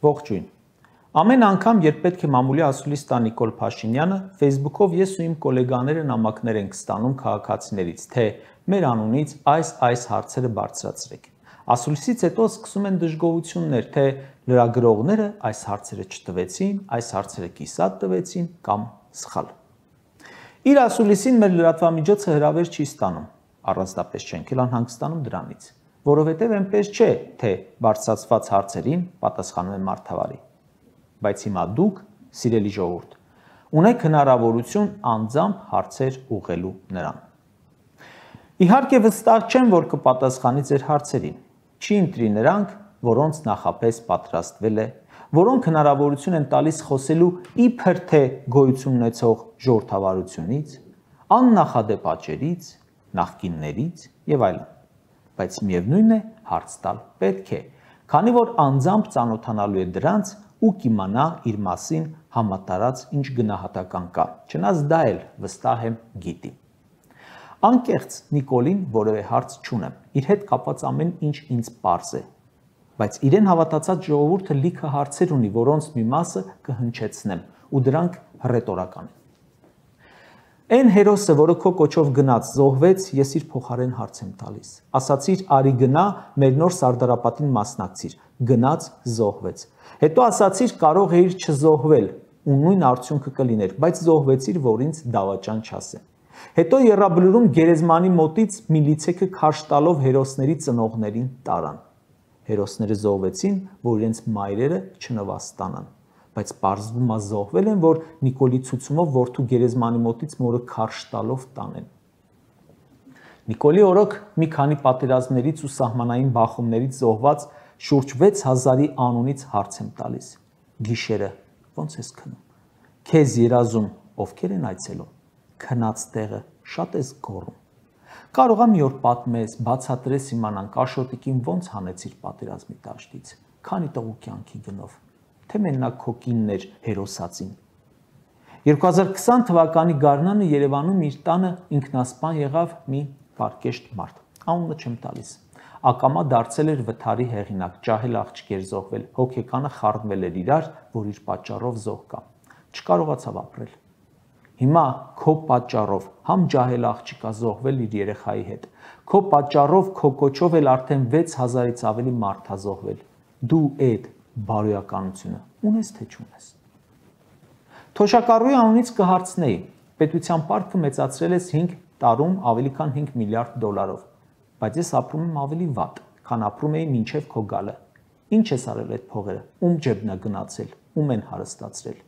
Ողջույն։ Ամեն անգամ, երբ պետք է մամուլի ասուլիս տա Նիկոլ Փաշինյանը, Facebook-ով ես ու իմ գոլեգաները նամակներ ենք ստանում քաղաքացիներից, թե մեր անունից այս հարցերը բարձրացրեք։ Ասուլիսից հետո սկսում են դժգոհություններ, թե լրագրողները այս հարցերը չտվեցին, այս հարցերը կիսատ տվեցին կամ սխալ։ Իր ասուլիսին մեր լրատվամիջոցը հրավեր չի ստանում, առանձնապես չենք էլ անհանգստանում դրանից, որովհետև այնպես չէ, թե բարձրացված հարցերին պատասխանում է մարդավարի։ Բայց հիմա դուք, սիրելի ժողովուրդ, ունեք հնարավորություն անձամբ հարցեր ուղղելու նրան։ Իհարկե վստահ չեմ, որ կպատասխանի ձեր հարցերին։ Չի ընտրի նրանք, որոնց նախապես պատրաստվել է, որոնք հնարավորություն են տալիս խոսելու իբր թե գոյություն ունեցող ժողովրդավարությունից, աննախադեպ աճերից, նախկիններից եւ այլն։ Բայց միևնույն է, հարց տալ պետք է, քանի որ անձամբ ծանոթանալու է դրանց ու կիմանա իր մասին համատարած ինչ գնահատական կա, չնայած դա էլ վստահ եմ գիտի։ Անկեղծ Նիկոլին որևէ հարց չունեմ, իր հետ կապված ամեն ինչ ինձ պարզ է, բայց իրեն հավատացած ժողովուրդը լիքը հարցեր ունի, որոնց մի մասը կհնչեցնեմ, ու դրանք հռետորական են։ Այն հերոսը, որը քո կոչով գնաց, զոհվեց, ես իր փոխարեն հարց եմ տալիս։ Ասացիր, արի գնա, մեր նոր Սարդարապատին մասնակցիր, գնաց, զոհվեց։ Հետո ասացիր, կարող էիր չզոհվել, ու նույն արդյունքը կլիներ, բայց զոհվեցիր, որ ինձ դավաճան չասեն։ Հետո եռաբլուրում գերեզմանի մոտից միլիցեքը քարշ տալով հերոսների ծնողներին տարան։ Հերոսները զոհվեցին, որ իրենց մայրերը չնվաստանան, բայց պարզվում է զոհվել են, որ Նիկոլի ցուցումով որդու գերեզմանի մոտից մորը քարշ տալով տանեն։ Նիկոլի օրոք մի քանի պատերազմներից ու սահմանային բախումներից զոհված շուրջ 6000-ի անունից հարց եմ տալիս։ Գիշերը ո՞նց ես քնում։ Քեզ երազում ովքեր են այցելում։ Քնած տեղը շատ ես գոռում։ Կարող է մի օր պատմես, բացատրես իմանանք Աշոտիկին ոնց հանեցիր պատերազմի դաշտից, քանի տղու կյանքի գնով, թե մենակ քո կինն էր հերոսացին։ 2020 թվականի գարնանը Երևանում իր տանը ինքնասպան եղավ մի պարկեշտ մարդ, անունը չեմ տալիս։ Ակամա դարձել էր վթարի հեղինակ, ջահել աղջիկ էր զոհվել, հոգեկանը խառնվել էր իրար, որ իր պատճառով զոհ կա։ Չկարողացավ ապրել։ Հիմա քո պատճառով համ ջահել աղջիկա զոհվել իր երեխայի հետ, քո պատճառով քո կոչով էլ արդեն 6000-ից ավելի մարդ ա զոհվել։ Դու այդ բարոյականությունը ունես թե չունես։ Թոշակառուի անունից կհարցնեի, պետության պարտքը մեծացրել ես 5 տարում ավելի քան 5 միլիարդ դոլարով, բայց ես ապրում եմ ավելի վատ, քան ապրում էի մինչև քո գալը։ Ինչ ես արել այդ փողերը, ում ջեբն է գնացել, ում են հարստացրել։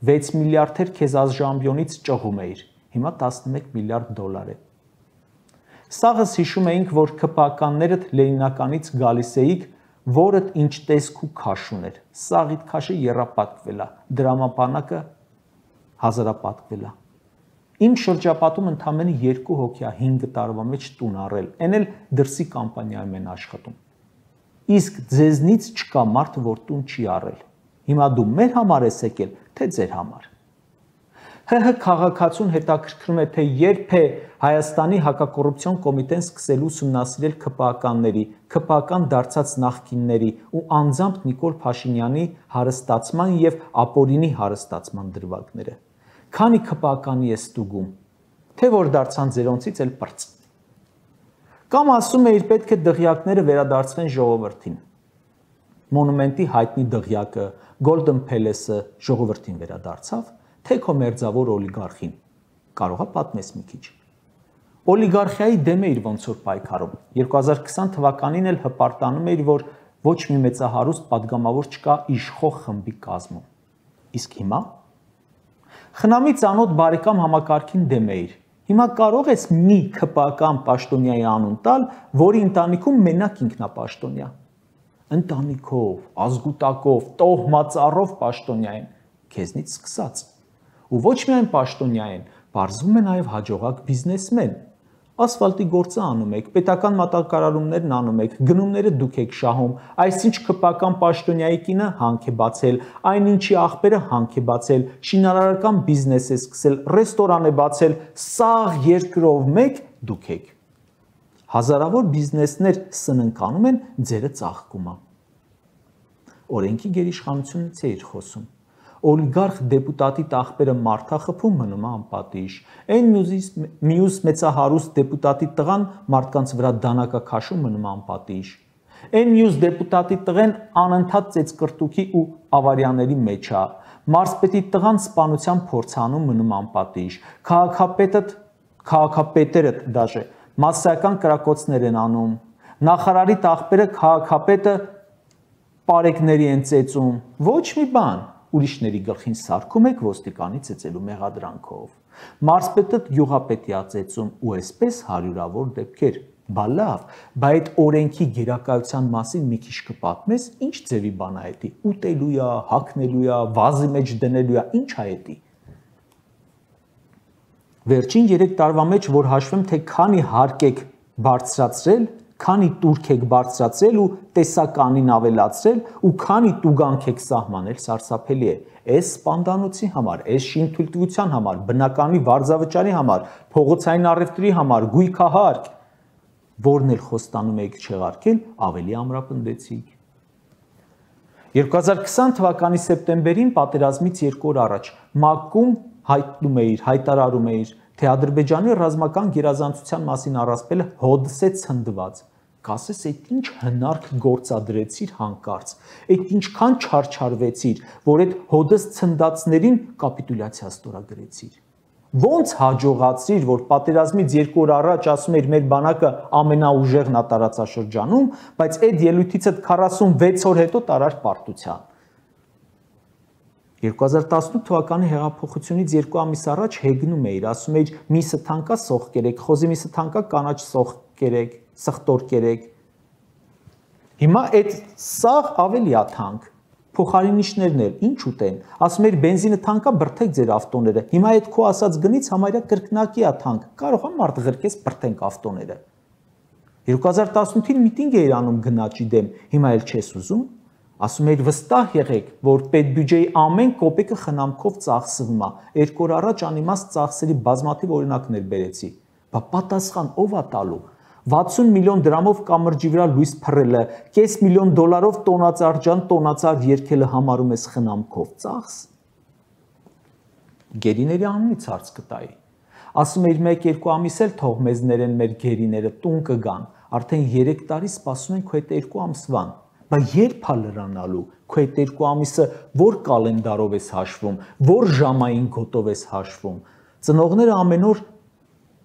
6 միլիարդեր քեզ ազժամբյոնից ճղում էիր, հիմա 11 միլիարդ դոլար է։ Սաղս հիշում էինք, որ ԿՊԱ-ականներդ Լենինականից գալիս էիք, որդ ինչ տեսք ու քաշ ուներ։ Սաղիդ քաշը եռապատկվել է, դրամապանակը հազարապատկվել է։ Իմ շրջապատում ընդամենը 2 հոգի է 5 տարվա մեջ տուն առել, այն էլ դրսի կամպանիայում են աշխատում։ Իսկ ձեզնից չկա մարդ, որ տուն չի առել։ Հիմա դու մեր համար ես եկել, թե ձեր համար։ ՀՀ քաղաքացուն հետաքրքրում է, թե երբ է Հայաստանի հակակոռուպցիոն կոմիտեն սկսելու ուսումնասիրել ԿՊԱ-ականների, ԿՊԱ-ական դարձած նախկինների ու անձամբ Նիկոլ Փաշինյանի հարստացման եւ ապօրինի հարստացման դրվագները։ Քանի ԿՊԱ-ականի է ստուգում, թե որ դարձան ձերոնցից էլ պրծ։ Կամ ասում է իր պետք է դղյակները վերադարձվեն ժողովրդին։ Մոնումենտի հայտնի դղյակը, Golden Palace-ը ժողովրդին վերադարձավ, թե քո մերձավոր օլիգարխին։ Կարող է պատմես մի քիչ։ Օլիգարխիայի դեմ էիր ոնց որ պայքարում։ 2020 թվականին էլ հպարտանում էիր, որ ոչ մի մեծահարուստ падգամավոր չկա իշխող խմբի կազմում։ Իսկ հիմա խնամի ծանոթ բարեկամ համակարգին դեմ էիր։ Հիմա կարող ես մի ԿՊԱ-ական պաշտոնյայի անուն տալ, որի ընտանիքում մենակ ինքնապաշտոնյա։ Ընտանիքով, ազգուտակով, տոհմածառով պաշտոնյա են, քեզնից սկսած։ Ու ոչ միայն պաշտոնյա են, բարձվում է նաև հաջողակ բիզնեսմեն։ Ասֆալտի գործը անում եք, պետական մատակարարումներն անում եք, գնումները դուք եք շահում, այսինչ ԿՊԱ-ական պաշտոնյայի կինը հանք է բացել, այնինչի աղբերը հանք է բացել, շինարարական բիզնես է սկսել, ռեստորան է բացել, սաղ երկրով մեկ դուք եք։ Հազարավոր բիզնեսներ սննկանում են, ձերը ծաղկում է։ օրենքի գերիշխանությունից է իր խոսում։ Օլիգարխ դեպուտատի տաղբերը մարդախփում մնում է անպատիժ։ Այն մյուս մեծահարուստ դեպուտատի տղան մարդկանց վրա դանակակաշում մնում է անպատիժ։ Այն մյուս դեպուտատի տղեն անընդհատ ծեծկրտուքի ու ավարիաների մեջ է։ Մարզպետի տղան սպանության փորձանում մնում անպատիժ։ Քաղաքապետերը դաժե մասսայական կրակոցներ են անում։ Նախարարի տաղբերը քաղաքապետը պարեկների են ծեծում։ Ոչ մի բան։ Ուրիշների գլխին սարքում եք ոստիկանի ծեծելու մեղադրանքով։ Մարզպետը գյուղապետի ածեծում ու այսպես հարյուրավոր դեպքեր։ Բա լավ, բայց այդ օրենքի գերակայության մասին մի քիչ կպատմես, ինչ ձևի բան է դա։ Ուտելու է, հագնելու է, վազի մեջ դնելու է, ինչ է դա։ Վերջին 3 տարվա մեջ, որ հաշվեմ, թե քանի հարկ եք բարձրացրել, քանի տուրք եք բարձրացրել ու տեսականին ավելացրել ու քանի տուգանք եք սահմանել, սարսափելի է։ Այս սպանդանոցի համար, այս շինթույլտվության համար, բնականի վարձավճարի համար, փողոցային առևտրի համար, գույքահարկ, որն էլ խոստանում եք չեղարկել, ավելի ամրապնդեցիք։ 2020 թվականի սեպտեմբերին պատերազմից 2 օր առաջ ՄԱԿ-ում հայտարարում էիր, թե Ադրբեջանի ռազմական գերազանցության մասին առասպելը հոդս է ցնդված։ Կասես, այդ ինչ հնարք գործադրեցիր հանկարծ, այդ ինչքան չարչարվեցիր, որ այդ հոդս ցնդածներին կապիտուլյացիա ստորագրեցիր։ Ոնց հաջողացիր, որ պատերազմից 2 օր առաջ ասում էիր մեր բանակը ամենաուժեղն է տարածաշրջանում, բայց այդ ելույթից 46 օր հետո տարար պարտության։ 2018 թվականի հեղափոխությունից 2 ամիս առաջ հեգնում էիր, ասում էիր միսը թանկա սող կերեք, խոզի միսը թանկա կանաչ սող կերեք, սխտոր կերեք։ Հիմա այդ սաղ ավելի է թանկ։ Փոխարինիչներն էլ ինչ ուտեն, ասում էիր բենզինը թանկա բրթեք ձեր ավտոները։ Հիմա այդ քո ասած գնից համարյա կրկնակի է թանկ։ Կարող է մարդ ղրկես բրթենք ավտոները։ 2018-ին միտինգ էիր անում գնաճի դեմ, հիմա էլ չես ուզում։ Ասում էիր վստահ եղեք, որ պետբյուջեի ամեն կոպեկը խնամքով ծախսվում է։ 2 օր առաջ անիմաստ ծախսերի բազմաթիվ օրինակներ բերեցի։ Բա պատասխան ով է տալու։ 60 միլիոն դրամով կամրջի վրա լույս փռելը, կես միլիոն դոլարով տոնածառ տոնածառ երկելը համարում ես խնամքով ծախս։ Գերիների անունից հարց կտայի։ Ասում էիր 1-2 ամիս էլ թող մեզ ներեն մեր գերիները տուն կգան, արդեն 3 տարի սպասում են քո այդ 2 ամսվան։ Բա երբ է լրանալու, քո այդ 2 ամիսը որ կալենդարով ես հաշվում, որ ժամային գոտով ես հաշվում։ Ծնողները ամեն օր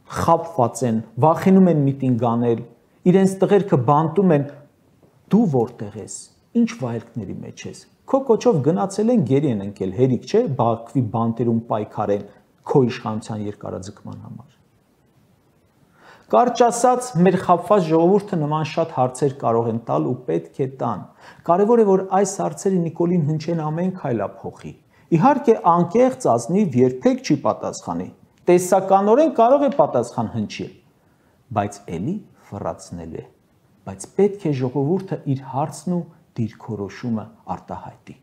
խաբված են, վախենում են միտինգ անել, իրենց տղերքը բանտում են, դու որտեղ ես, ինչ վայրկների մեջ ես, քո կոչով գնացել են գերի են ընկել, հերիք չէ, Բաքվի բանտերում պայքարեն քո իշխանության երկարաձգման համար։ Կարճ ասած, մեր խաբված ժողովուրդը նման շատ հարցեր կարող են տալ ու պետք է տան։ Կարևոր է, որ այս հարցերը Նիկոլին հնչեն ամեն քայլափոխի։ Իհարկե, անկեղծ ազնիվ երբեք չի պատասխանի։ Տեսականորեն կարող է պատասխան հնչել, բայց էլի ֆռացնելու է, բայց պետք է ժողովուրդը իր հարցն ու դիրքորոշումը արտահայտի։